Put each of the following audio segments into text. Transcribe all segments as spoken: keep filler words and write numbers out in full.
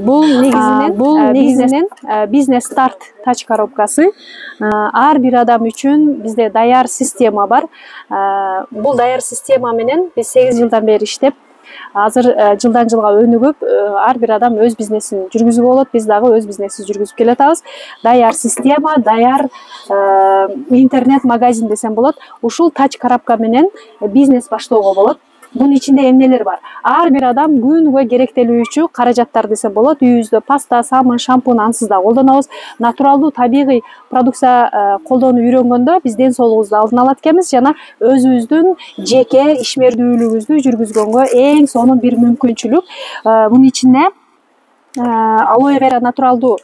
Бул негизинен бул негизинен бизнес старт тач коробкасы. Ар бир адам үчүн бизде даяр система бар. Бул даяр система менен биз сегиз жылдан бери иштеп, азыр жылдан жылга өнүгүп, ар бир адам өз бизнесин жүргүзүп болот. Биз дагы өз бизнесибизди жүргүзүп келатабыз. Даяр система, даяр интернет магазин десем болот. Ушул тач коробка менен бизнес баштоого болот. Бунун ичинде эмнелер бар? Ар бир адам күнүгө керектелүүчү каражаттар десем болот. Үйүбүздө паста, самын, шампунь ансыз да колдонобуз. Натуралдуу, табигый продукция колдонуп үйрөнгөндө биз ден соолугубузду алдын алат экенбиз жана өзүбүздүн жеке ишмердүүлүгүбүздү жүргүзгөнгө эң сонун бир мүмкүнчүлүк. Мунун ичинде алоэ вера натуралдуу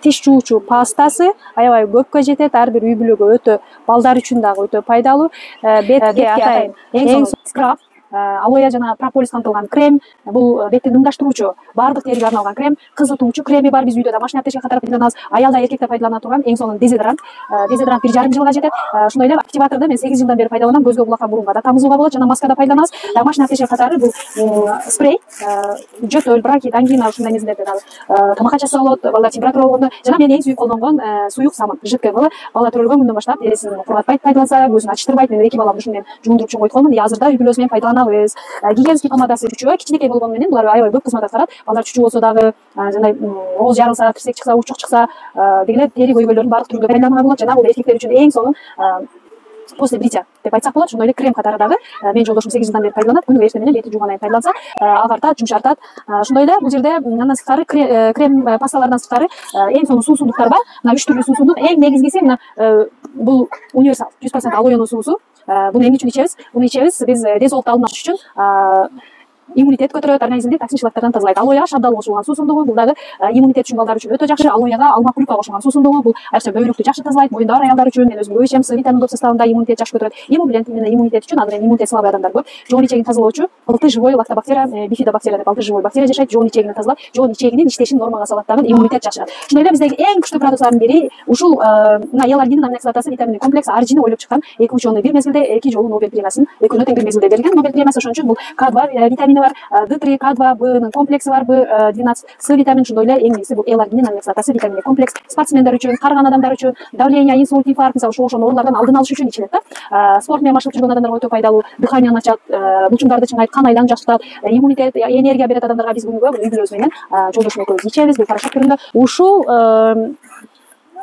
тиш жуучу пастасы аябай көпкө жетет. Ар бир үй бүлөгө өтө, балдар үчүн дагы өтө пайдалуу. Бетке атайын эң сонун скраб, алоэ жана прополис камтылган крем. Бул бетти дымдаштыруучу, баардык териге арналган крем. Кызытуучу креми бар. Биз үйдө домашний аптечка катары пайдаланабыз. Аял да эркек да пайдалана турган эң сонун дезодорант. Дезодорант бир жарым жылга жетет. Ошондой эле активаторду мен сегиз жылдан бери пайдаланам. Көзгө, кулакка, бурунга да тамызууга болот жана маска да пайдаланабыз. Домашний аптечка катары бул спрей, жөтөл, бронхит, ангина ушундай нерселерде дагы тамак ачасы болот. Балдар температура болгондо жана мен эң сүйүп колдонгон суюк самын, жидкий кылы. Бала төрөлгөн күндөн баштап тересин кургатпайт пайдаланса, көзүн ачыштырбайт. Мен эки баламды ушуну менен жуундуруп чоң койтконмун. И азыр да үй бүлөбүз менен пайдаланабыз. Гигиенский помадасы чүчүгө кичинекей болгону менен булар аябай көп кызмат аткарат. Балдар чүчү болсо дагы, жандай ооз жарылса, кирсек чыкса, учук чыкса, дегеле тери көйгөйлөрүн баардык түрүндө пайдаланууга болот. Жана бул эркектер үчүн эң сонун после бритья деп айтсак болот. Ошондой эле крем катары дагы менин жолдошум сегиз жылдан бери пайдаланат. Күнүгө эртең менен бетин жуугандан кийин пайдаланса, агартат, жумшартат. Ошондой эле бул жерде андан сырткары крем пасталардан сырткары эң сонун суусундуктар бар. Мына үч түрлүү суусундук. Эң негизгиси мына бул универсал жүз процент алоэнин суусу. Буну эмне үчүн ичебиз? Буну ичебиз биз ден соолукту алдын алыш үчүн. Иммунитет көтөрөт, организмди токсин шлактардан тазалайт. Алоэга шабдал кошулган суусундугу, бул дагы иммунитет үчүн балдар үчүн өтө жакшы. Алоэга алма клюква кошулган суусундугу, бул айрыкча бөйрөктү жакшы тазалайт. Моюнда бар аялдар үчүн мен өзүм көп ичем. С витамин көп составында, иммунитет жакшы көтөрөт. Иммублент менен иммунитет үчүн, азыр эми иммунитет слабый адамдар көп. Жоон ичегин тазалоочу, алты живой лактобактерия, бифидобактерия деп алты живой бактерия жашайт. Жоон ичегин тазалап, жоон ичегинин иштешин нормага салат дагы, иммунитет жакшырат. Ошондой эле биздеги эң күчтүү продукциялардын бири ушул мына эларгинин аминокислотасы, витаминдик комплекс аржини ойлоп чыккан. Эки ученый бир мезгилде эки жолу Нобель премиясын, экөөнө тең бир мезгилде берилген Нобель премиясы. Ошон үчүн бул К два витамини бар, Д три, К два, Бнын комплекси бар, Б двенадцать, С витамин. Ошондой эле эң негизгиси бул эларгинин аминокислотасы, витаминдик комплекс. Спортсмендер үчүн, карыган адамдар үчүн, давление, инсульт, инфаркт, мисалы ушул ошол оорулардан алдын алыш үчүн ичилет да. Спорт менен машыгып жүргөн адамдарга өтө пайдалуу. Дыханияны ачат, булчуңдарды чыңгайт, кан айланып жакшыртат, иммунитет, энергия берет адамдарга. Биз күнүгө үй бүлөбүз менен жолдошум экөөбүз ичебиз. Бул порошок түрүндө. Ушул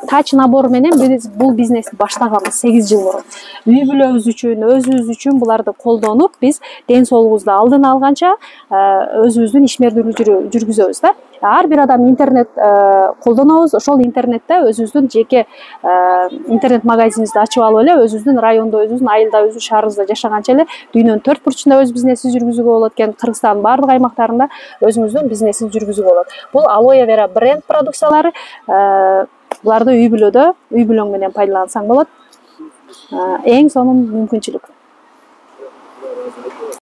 тач набор менен биз бул бизнести баштаганбыз сегиз жыл мурун. Үй бүлөбүз үчүн, өзүбүз үчүн буларды колдонуп, биз ден соолугубузду алдын алганча өзүбүздүн ишмердүүлүктү жүргүзөбүз да. Ар бир адам интернет колдонобуз. Ошол интернетте өзүбүздүн жеке интернет магазинибизди ачып алып эле өзүбүздүн райондо, өзүбүздүн айылда, өзүбүздүн шаарыбызда жашаганча эле дүйнөнүн төрт бурчунда өз бизнесибизди жүргүзүүгө болот экен. Кыргызстандын баардык аймактарында өзүңүздүн бизнесибизди жүргүзүүгө болот. Бул алоэ вера бренд продукциялары. Буларды үй бүлөдө, үй бүлөң менен пайдалансаң болот. Эң сонун мүмкүнчүлүк.